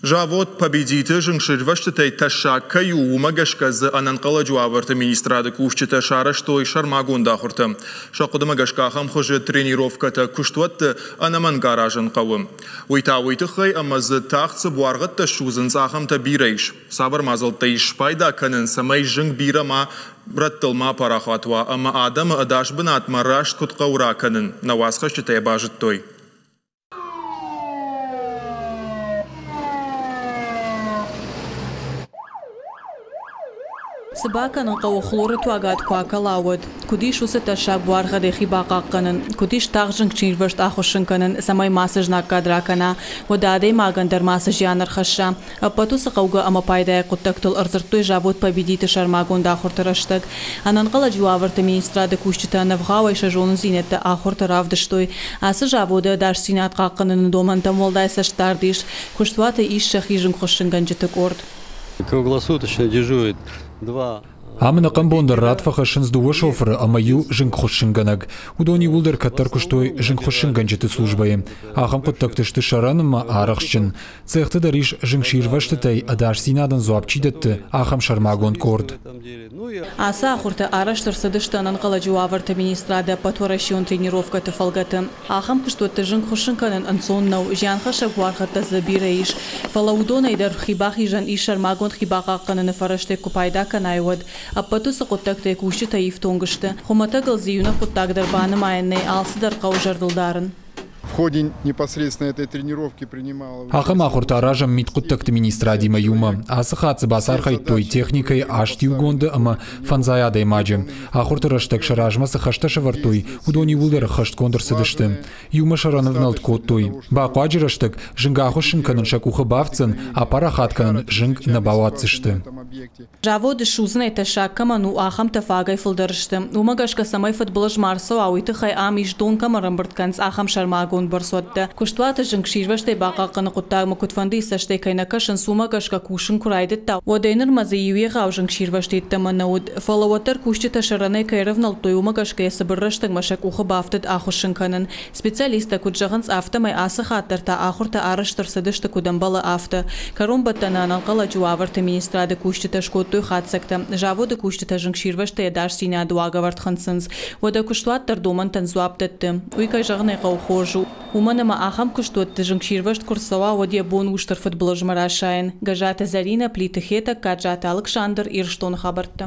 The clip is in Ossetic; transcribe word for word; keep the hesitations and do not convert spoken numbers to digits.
Завод «Победит»-ы зынгсирвӕзтытӕй тӕссаг кӕй у, уымӕ гӕсгӕ дзы ӕнӕнхъӕлӕджы уавӕрты министрады кусджытӕ сарӕзтой сӕрмагонд ахуыртӕ. Сӕ хъуыдымӕ гӕсгӕ ахӕм хуызы тренировкӕтӕ куыстуӕтты ӕнӕмӕнг аразын хъӕуы. Уый та уый тыххӕй, ӕмӕ дзы тагъд цы буаргъӕдтӕ ссудзынц, ахӕмтӕ бирӕ ис. Цавӕр мадзӕлттӕ ис спайда кӕнын, цӕмӕй зынг бирӕ ма рӕттыл ма апарахат уа ӕмӕ адӕмы ӕдас бынатмӕ раст куыд хъӕуы ракӕнын, нӕ уацхӕсджытӕ йӕ базыдтой. Цы бакӕнын хъӕуы хлоры туагад куы акӕла, уӕд? Куыд ис уыцы тӕссаг буаргъӕдӕй хи бахъахъхъӕнын? Куыд ис тагъд зынгсирвӕзт ахуыссын кӕнын, цӕмӕй мацы знаггад ракӕна, уӕдӕ адӕймагӕн дӕр мацы зиан ӕрхӕсса? Ӕппӕт уыцы хъӕугӕ ӕмӕ пайдайаг хъуыддӕгтыл ӕрдзырдтой завод «Победит»-ы сӕрмагонд ахуырты рӕстӕг. Ӕнӕнхъӕлӕджы уавӕрты министрады кусджытӕ ӕнӕвгъауӕй сӕ зонындзинӕдтӕ ахуырты равдыстой. Ацы заводы ӕдасдзинад хъахъхъӕныны домӕнтӕм уӕлдай цӕстдард ис. Куыстуаты ис сӕхи зынгхуыссынгӕнджыты къорд. Круглосуточно дежурит два. Ам ӕнӕхъӕн бон дӕр рад фӕхӕссынц дыууӕ шофыры ӕмӕ иу зынгхуыссынгӕнӕг. Уыдон иууылдӕр кӕддӕр куыстой зынгхуыссынгӕнджыты службӕйы. Ахӕм хъуыддӕгты сты сӕрӕн ӕмӕ арӕхстджын. Цехты дӕр ис зынгсирвӕзтытӕй ӕдасдзинадӕн дзуапп чи дӕтты, ахӕм сӕрмагонд къорд. Ацы ахуыртӕ арӕзт ӕрцыдысты ӕнӕнхъӕлӕджы уавӕрты министрады ӕппӕтуӕрӕсеон тренировкӕты фӕлгӕты. Ахӕм куыстуӕтты зынг хуыссын кӕнын ӕнцон нӕу, зианхӕссӕг буаргъӕдтӕ дзы бирӕ ис. Фӕлӕ уыдонӕй дӕр хибахизӕн ис сӕрмагонд хибахъахъхъӕныны фӕрӕзтӕй куы пайда кӕнай, уӕд. Ӕппӕт уыцы хъуыддӕгтӕй кусджытӕ ифтонг сты. Хуымӕтӕгыл дзы иунӕг хъуыддаг дӕр банымайӕн нӕй, алцыдӕр хъӕуы зӕрдыл дарын. В ходе непосредственно этой тренировки принимала Ахӕм ахуыртӕ аразӕм мидхъуыддӕгты министрадимӕ иумӕ. Ацы хатт дзы бацархайдтой техникӕйы аст иугонды ӕмӕ фӕндзай адӕймаджы. Ахуырты рӕстӕг сӕ размӕ цы хӕстӕ сӕвӕрдтой, уыдон иууылдӕр ӕххӕстгонд ӕрцыдысты. Иумӕ сӕрӕнӕвнӕлд кодтой. Бахъуаджы рӕстӕг зынг ахуыссын кӕнын сӕ къухы бафтдзӕн, апарахат кӕнын зынг нӕ бауадздзысты. Заводы ссудзынӕй тӕссаг кӕмӕн у, ахӕмтӕ фагӕй фылдӕр сты. Уымӕ гӕсгӕ, цӕмӕй фыдбылыз ма ӕрцӕуа, уый тыххӕй ам ис дон кӕм ӕрӕмбырд кӕнынц, ахӕм сӕрмагонд бӕрцуӕттӕ. Куыстуаты зынгсирвӕзтӕй бахъахъхъӕныны хъуыддагмӕ куыдфӕндыйы цӕстӕй кӕй нӕ кӕсынц, уымӕ гӕсгӕ кусын куы райдыдта, уӕдӕй нырмӕ дзы иу егъау зынгсирвӕзт йеддӕмӕ нӕ уыд. Фӕлӕ уӕддӕр кусджытӕ сӕрӕнӕй кӕй ӕрӕвнӕлдтой, уымӕ гӕсгӕ йӕ цыбыр рӕстӕгмӕ сӕ къухы бафтыд ахуыссын кӕнын. Специалисттӕ куыд зӕгъынц, афтӕмӕй ацы хатт дӕр та ахуыртӕ арӕзт ӕрцыдысты куыд ӕмбӕлы, афтӕ. Кӕронбӕттӕны ӕнӕнхъӕлӕджы уавӕрты министрады кусджытӕ скодтой хатдзӕгтӕ. Заводы кусджытӕ зынгсирвӕзтӕй ӕдасдзинады уагӕвӕрд хынцынц. Уӕдӕ куыстуат дӕр домӕнтӕн дзуапп дӕтты. Уый, кӕй зӕгъын ӕй хъӕуы, хорз у. Уымӕн ӕмӕ ахӕм куыстуӕтты зынгсирвӕзт куы рцӕуа, уӕд йӕ бон у стыр фыдбылызмӕ расайын. Гӕззаты Зӕринӕ, Плиты Хетӕг, Гаджаты Алыксандр, Ирыстоны хабӕрттӕ.